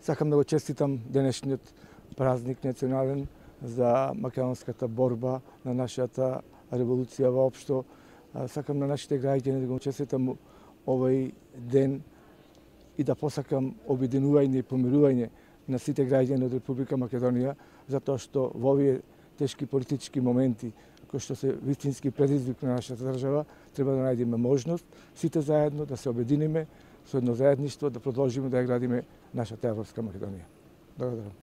Сакам да го честитам денешниот празник национален за македонската борба на нашата револуција воопшто. Сакам на нашите граѓани да го честитам овој ден и да посакам обединување и помирување на сите граѓани од Република Македонија, затоа што во овие тешки политички моменти, кои што се вистински предизвик на нашата држава, треба да најдеме можност сите заедно да се обединиме со едно заедништво, да продолжиме да ја градиме нашата европска Македонија. Благодарам.